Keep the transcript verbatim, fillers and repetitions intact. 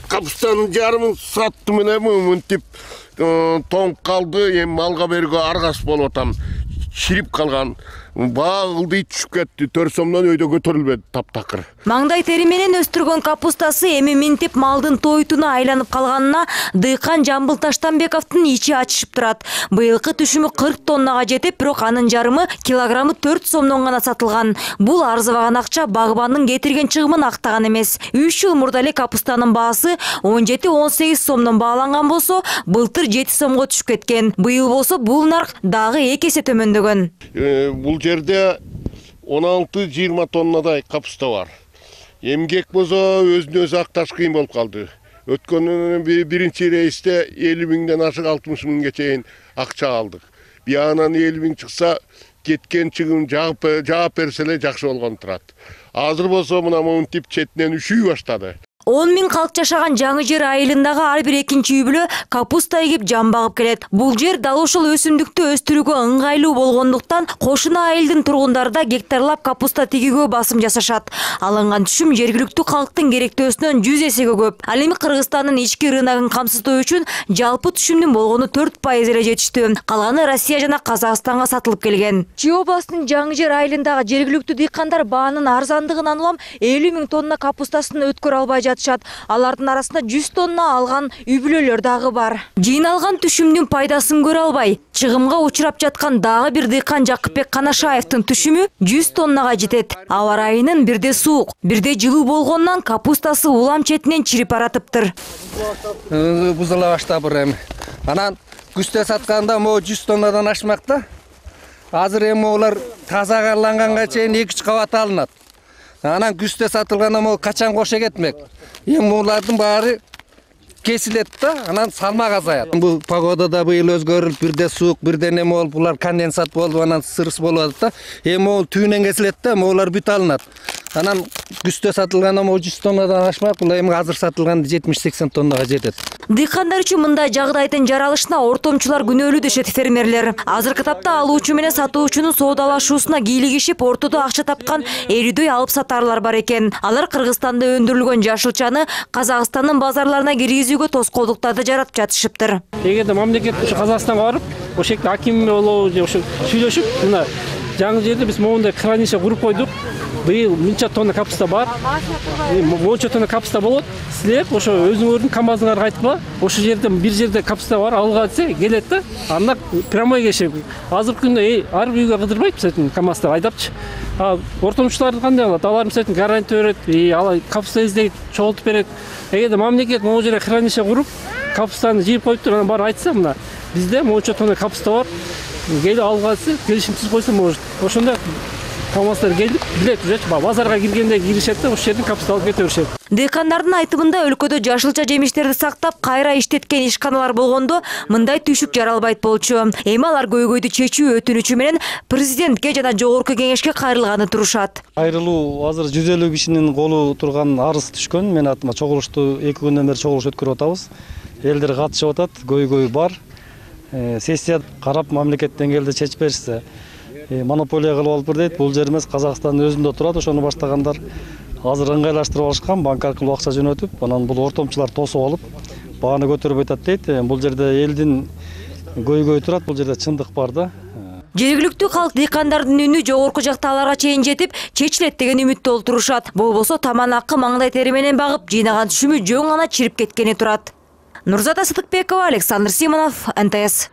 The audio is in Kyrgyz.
капустанын жарымын саттым эле мынтип тоңуп калды. Эми малга берүүгө аргасыз болуп атам. Ширип калган. Баа ылдый түшүп кетти. төрт сомдон өйдө көтөрүлбөдү таптакыр. Маңдай тери менен өстүргөн капустасы эми минтип малдын тойтуна айланып калганына дыйкан Жамбыл Таштанбековдун ичи ачышып турат. Быйылкы түшүмү кырк тоннага жетип, бирок анын жарымы килограммы төрт сомдон гана сатылган. Бул арзыбаган акча багбандын кетирген чыгымын актаган эмес. үч жыл мурда эле капустанын баасы он жети он сегиз сомдон бааланган болсо, былтыр жети сомго түшүп кеткен. Быйыл болсо бул нарк дагы эки эсе төмөндөгөн. Бул жерде он алты жыйырма тоннадай капуста бар. Эмгек болсо өзүнө өзү акташ кыйын болуп калды. Өткөн биринчи рейсте элүү миңден ашык алтымыш миңге чейин акча алдык. Биянан элүү миң чыкса, кеткен чыгым жаап берсе эле жакшы болгон турат. Азыр болсо мына монтип четинен үшүй баштады. он миң калк жашаган Жаңы Жер айылындагы ар бир экинчи үй бүлө капуста эгип жан багып келет. Бул жер дал ошол өсүмдүктү өстүрүүгө ыңгайлуу болгондуктан кошуна айылдын тургундары да гектарлап капуста тигүүгө басым жасашат. Алынган түшүм жергиликтүү калктын керектөөсүнөн жүз эсеге көп. Ал эми Кыргызстандын ички рыногун камсыздоо үчүн жалпы түшүмдүн болгону төрт пайыз эле жетиштүү. Калганы Россия жана Казакстанга сатылып келген. Чүй областынын Жаңы Жер айылындагы жергиликтүү дыйкандар баанын арзандыгынан улам элүү миң тонна капустасын өткөрө албай жатышат. Алардын арасында жүз тонна алган үй бүлөлөр дагы бар. Жыйналган түшүмдүн пайдасын көрө албай, чыгымга учурап жаткан дагы бир дыйкан Жакыпбек Канашаевдин түшүмү жүз тоннага жетет. Аба ырайынын бирде суук, бирде жылуу болгондон капустасы улам четинен чирип баратыптыр. Бузула баштап эми. Анан күздө сатканда могу жүз тоннадан ашмак да. Азыр эми олар тазаланганга чейин эки үч кабат алынат. Анан күздө сатылганда могу качан кошо кетмек. Эми булардын баары кесилет да, анан салмак азаят. Бул погодада быйыл өзгөрүлүп, бирде суук, бирде неме болуп, булар конденсат болуп, анан сырыс болуп атат да. Эми могу түүнөн кесилет да, могулар бүт алынат. Анан күздө сатылганда могу жүз тоннадан ашмак, бул эми азыр сатылганда жетимиш сексен тоннага жетет. Дыйкандар үчүн мындай жагдайдын жаралышына ортомчулар күнөөлүү дешет фермерлер. Азыркы тапта алуучу менен сатуучунун соодалашуусуна кийлигишип, ортодо акча тапкан элүүдөй алып сатарлар бар экен. Алар Кыргызстанда өндүрүлгөн жашылчаны Казакстандын базарларына киргизүүгө тоскоолдуктарды жаратып жатышыптыр. Эгерде мамлекет ушу Казакстанга барып, ошол жерде аким болобу же ошо сүйлөшүп, мына Жаңы Жерде биз моундай хранилище куруп койдук. Быйыл мынча тонна капуста бар. Монча тонна капуста болот. Силер ошо өзүңөрдүн КамАЗыңарга айткыла. Ошол жерден бир жерде капуста бар, алга десе келет да. Анда прямой кешип. Азыркы күндө ар бир үйгө кыдырбайт мисалы КамАЗды айдапчы. А ортомчулар кандай болот? Алар мисалы гарантия берет, и алар капуста издейт, чогултуп берет. Эгерде мамлекет могу жерге хранилище куруп, капустаны жыйып коюптур, анан баары айтса, мына бизде монча тонна капуста бар. Келип алга десе, келишимсиз койсо может. Ошондо КамАЗдар келип, билет уже базарга киргенде киришет да, ошол жерден капуста алып кете беришет. Дыйкандардын айтымында өлкөдө жашылча жемиштерди сактап, кайра иштеткен ишканалар болгондо мындай түйшүк жаралбайт болчу. Эми алар көйгөйдү чечүү өтүнүчү менен президентке жана жогорку кеңешке кайрылганы турушат. Кайрылуу азыр жүз элүү кишинин колу турган арыз түшкөн. Мен атыма чогулушту эки күндөн бери чогулуш өткөрүп атабыз. Элдер катышып атат, көйгөй бар. Сессия карап мамлекет деңгээлде чечип беришсе, монополия кылып алып бир дейт. Бул жер эмес, Казакстандын өзүндө турат. Ошону баштагандар азыр ыңгайлаштырып алышкан, банк аркылуу акча жөнөтүп, анан бул ортомчулар тосуп алып, бааны көтөрүп атат дейт. Бул жерде элдин көйгөй турат, бул жерде чындык бар да. Жергиликтүү калк дыйкандардын үнү жогорку жактагыларга чейин жетип, чечилет деген үмүттө олтурушат. Болбосо таман акы маңдай тери менен багып, жыйнаган түшүмү жөн гана чирип кеткени турат. Нурзата Сыдыкбекова, Александр Симонов, эн тэ эс.